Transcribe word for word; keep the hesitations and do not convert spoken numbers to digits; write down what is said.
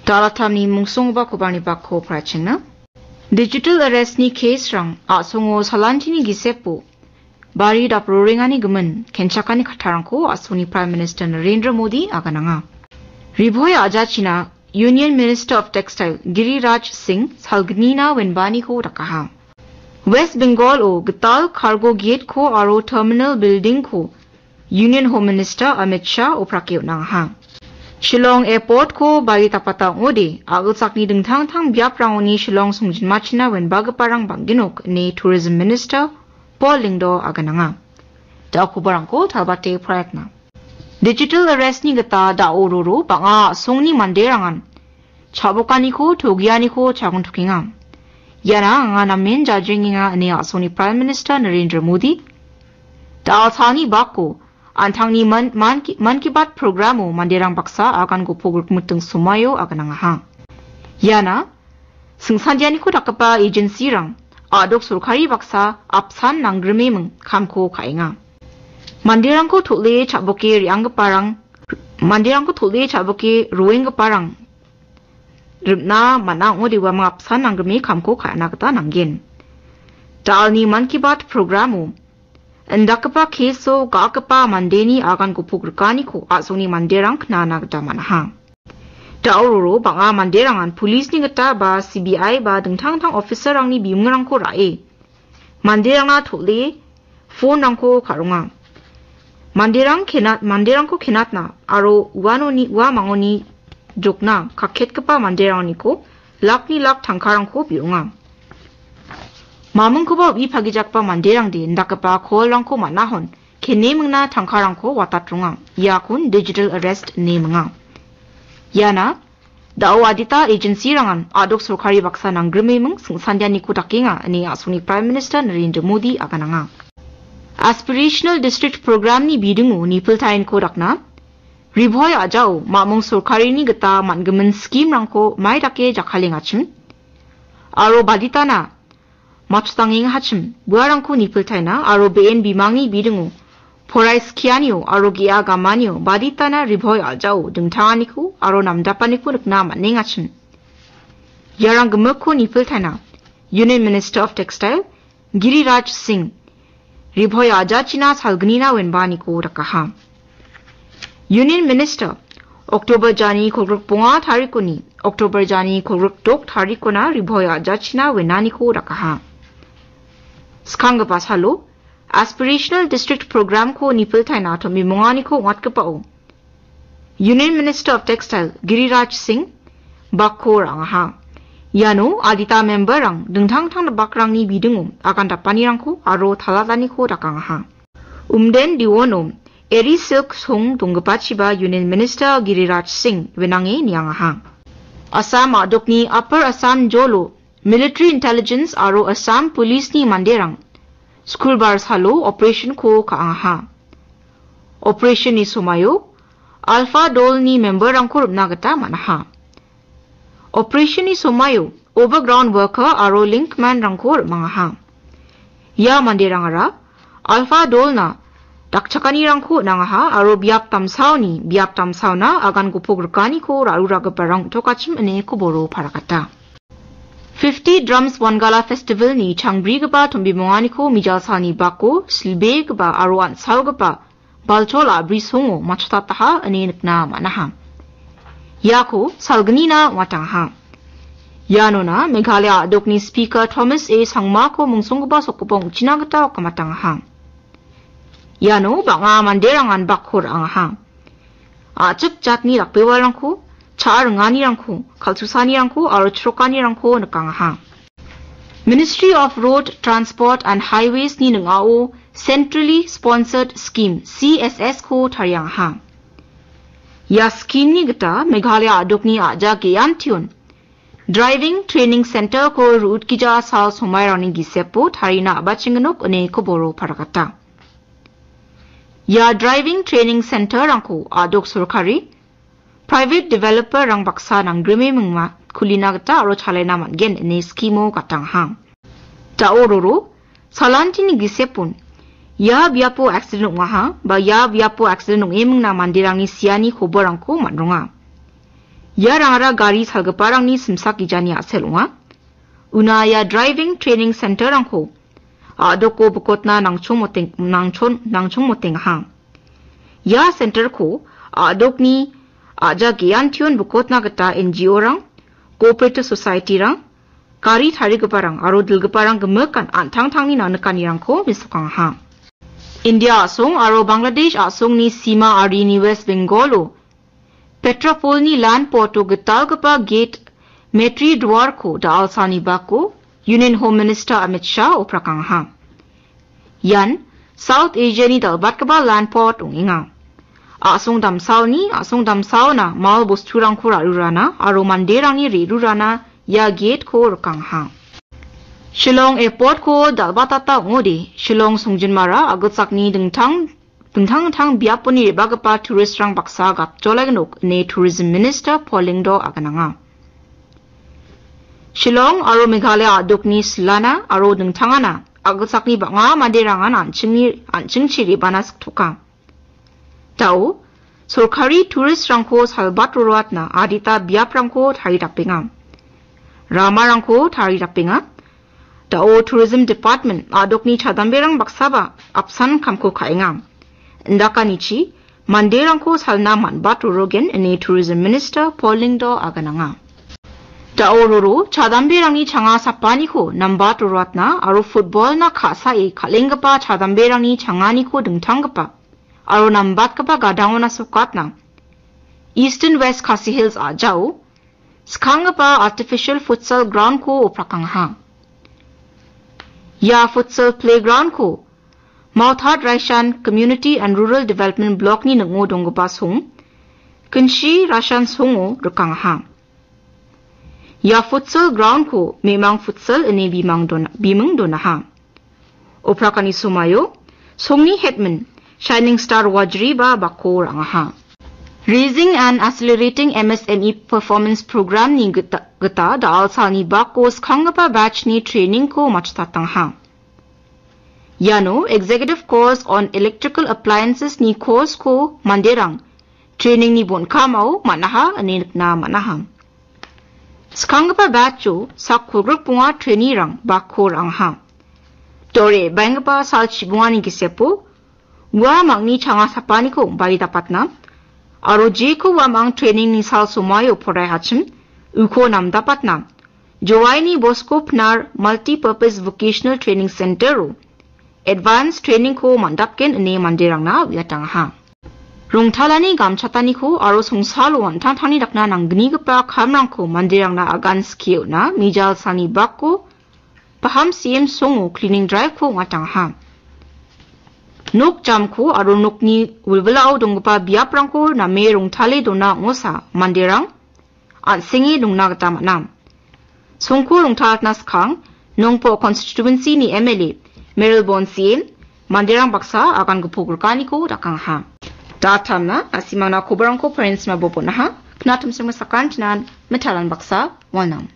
Dalatamni mungsonggipa kobarni bakko parachengna. Digital arrest-ni case-rang a·songo salantini gisepo bari daprorengani gimin kenchakani kattarangko a·songni Prime Minister Narendra Modi agananga. Ribhoi a·jachina Union Minister of Textile Giriraj Singh salgnina wenbaniko dakaha. West Bengal-o gital cargo gate-ko aro terminal building-ko Union Home Minister Amit Shah oprake on·angaha. Shillong Airport-ko bari dapata ong·ode, a·gilsakni dingtang dingtang biaprangoni Shillong songjinmachina wenbagiparang bang·genok ine Tourism Minister Paul Lyngdoh agananga. Da·o kobarangko talbate poraiatna. Digital arrest-ni gita da·o roro bang·a a·songni manderangan cha·bokaniko, togianiko chagontokenga. Iana anga namen jajrengenga ine a·songni Prime Minister Narendra Modi da·altalni bako an·tangni Man, Man Ki, Man Ki Baat programo manderang baksa agan gipok rikmiting somaio aganangaha. Iana singsandianiko dakgipa agency-rang a·dok sorkari baksa apsan nanggrimeming kamko ka·enga. Manderangko tol·e cha·boke re·anggiparang, manderangko tol·e cha·boke roenggiparang rimna man·a ong·ode uamang apsan nanggrime kamko ka·na gita nanggen. Da·alni Man Ki Baat programo indakgipa case-o ga·gipa mandeni agan gipok rikaniko a·songni manderang knana gita man·aha. Da·o roro bang·a manderangan police-ni gita ba C B I ba dingtang dingtang officer-rangni bimungrangko ra·e manderangna tol·e phone-rangko ka·ronga. Manderang kenat-, manderangko kenatna aro uanoni, ua mangoni jokna kaketgipa manderangniko lakni lak tangkarangko bi·onga. Mamingkoba uipagijakgipa manderangde indakgipa call-rangko man·ahon kenemingna tangkarangko watatronga. Iakon digital arrest ine minga. Iana da·o adita agency-rangan a·dok sorkari baksa nanggrimeming singsandianiko dakenga ine a·songni Prime Minister Narendra Modi agananga. Aspirational District Program-ni bidingo nipiltaenko dakna, Ribhoi a·jao mamung sorkarini gita man·gimin scheme-rangko mai dake jakkalengachim aro baditana matchotangengachim, buarangko nipiltaina aro be·en bimangni bidingo porai skianio aro ge·a gamanio baditana Ribhoi a·jao dingtanganiko aro namdapaniko nikna man·engachim. Iarang gimikko nipiltaina Union Minister of Textile Giriraj Singh Ribhoi a·jachina salgnina wenbaniko dakaha. Union Minister October jani kolgrik bonga tarikoni, October jani kolgrik dok tarikona Ribhoi a·jachina wenaniko dakaha. Skanggipa salo Aspirational District Program-ko nipiltaina tomimonganiko ong·atgipao Union Minister of Textile Giriraj Singh bakko ra·angaha. Iano adita member-rang dingtang dingtang bakrangni bidingo agan dapanirangko aro talataniko dakangaha. Umden Diwono Eri Silk Song donggipachiba Union Minister Giriraj Singh wenange niangaha. Assam a·dokni Upper Assam jolo Military Intelligence aro Assam Police-ni manderang Skulbar salo operation-ko ka·angaha. Operation-ni somaio Alpha Dol-ni member-rangko rim·na gita man·aha. Operation-ni somaio overground worker aro linkman-rangko rim·angaha. Ia manderangara Alpha Dol-na dakchakanirangko on·angaha aro biap damsaoni biap damsaona agan gopok rikaniko ra·ruragiparang on·tokachim ine koboro parakata. Fifty Drums Wangala Festival-ni changbrigipa tombimonganiko mijalsalni bako silbegipa aro an·salgipa balchol a·bri songo matchotataha ine nikna man·aha. Iako salgnina ong·atangaha. Ianona Meghalaya a·dokni Speaker Thomas A Sangmako mungsonggipa sokgipa ong·china gita okamatangaha. Iano bang·a manderangan bakko ra·angaha. A·chik jatni dakbewarangko, cha·a ringanirangko, kal·susanirangko aro chrokanirangko nikangaha. Ministry of Road Transport and Highways-ni ning·ao Centrally Sponsored Scheme, C S S-ko tariangaha. Ia scheme-ni gita Meghalaya a·dokni a·ja ge·antion Driving Training Center-ko ru·utgija sal somairangni gisepo tarina a·bachengnok ine koboro parakata. Ia Driving Training Center-rangko a·dok sorkari, private developer-rang baksa nanggrime mingma kulina gita aro chalaina man·gen ine scheme-o gatangaha. Da·o roro, salantini gisepon, ia biapo accident ong·aha ba ia biapo accident ong·emingna manderangni siani koborangko man·ronga. Iarangara gari salgiparangni simsak gijani a·sel ong·a. Una ia driving training center-rangko a·doko bikotna nangchongmoteng-, nangchon-, nangchongmotengaha. Ia center-ko a·dokni a·ja ge·antion bikotna gita N G O-rang, cooperative society-rang, gari tarigiparang aro dilgiparang gimikan an·tangtangni nangnikanirangko mesokangaha. India a·song aro Bangladesh a·songni sima arini West Bengal-o Petrapolni land port-o gitalgipa gate Metri Dwarko da·alsani bako Union Home Minister Amit Shah oprakangaha. Ian South Asia-ni dal·batgipa land port ong·enga. A·song damsaoni, a·song damsaona mal bosturangko ra·rurana aro manderangni re·rurana ia gate-ko rikangaha. Shillong Airport-ko dal·batata ong·ode, Shillong songjinmara a·gilsakni dingtang, dingtang dingtang biaponi re·bagipa tourist-rang baksa gapjolagnok ine Tourism Minister Paul Lyngdoh agananga. Shillong aro Meghalaya a·dokni silana aro dingtangana a·gilsakni bang·a manderangan an·chingni, an·chingchi re·bana siktoka. Da·o, sorkari tourist-rangko salbat roroatna adita biaprangko taridapenga. Ramarangko taridapenga. Da·o Tourism Department a·dokni chadamberang baksaba apsan kamko ka·enga. Indakanichi, manderangko salna man·bat rorogen ine Tourism Minister Paul Lyngdoh agananga. Da·o roro chadamberangni changa sapaniko nambat roroatna aro football-na ka·sae kal·enggipa chadamberangni changaniko dingtanggipa aro nambatgipa gadangona sokatna Eastern West Khasi Hills a·jao skanggipa artificial futsal ground-ko oprakangaha. Ia futsal playground-ko Mauthat Raishan Community and Rural Development Block-ni ning·o donggipa song, Kinshi Raishan songo rikangaha. Ia futsal ground-ko Memang Futsal ine bimang dona-, biming donaha. Oprakani somoio songni headman Shining Star Wajri-ba bako ra·angaha. Raising and Accelerating M S M E Performance Program-ni gita, gita da·alsalni bako skanggipa batch-ni training-ko matchtatangaha. Iano Executive Course on Electrical Appliances-ni course-ko manderang training-ni bon·kamao man·aha ine nikna man·aha. Skanggipa batch-o sak kolgrik bonga trainee-rang bako ra·angaha. Dore baenggipa sal chibongani gisepo ua mangni changa sapaniko baidapatna aro jeko ua mang training-ni sal somoio poraihachim uko namdapatna Jowaini Bosco Pnar Multi-Purpose Vocational Training Center-o advance training-ko man·datgen ine manderangna uiatangaha. Rongtalani gamchataniko aro songsalo an·tangtangni dakna nanggnigipa kamrangko manderangna agan skie on·a, mijalsalni bako Paham C M songo cleaning drive-ko ong·atangaha. Nok jamko aro nokni wilwilao donggipa biaprangko name rongtale dona ong·osa manderang an·senge dongna gita man·a. Songko rongtalatna skang, Nongpo constituency-ni M L A Marilbon C M manderang baksa agan gipok rikaniko dakangaha. Datamna, na·simangna kobarangko parents ma bobonaha, knatumsima sakantinan mitalan baksa walnam.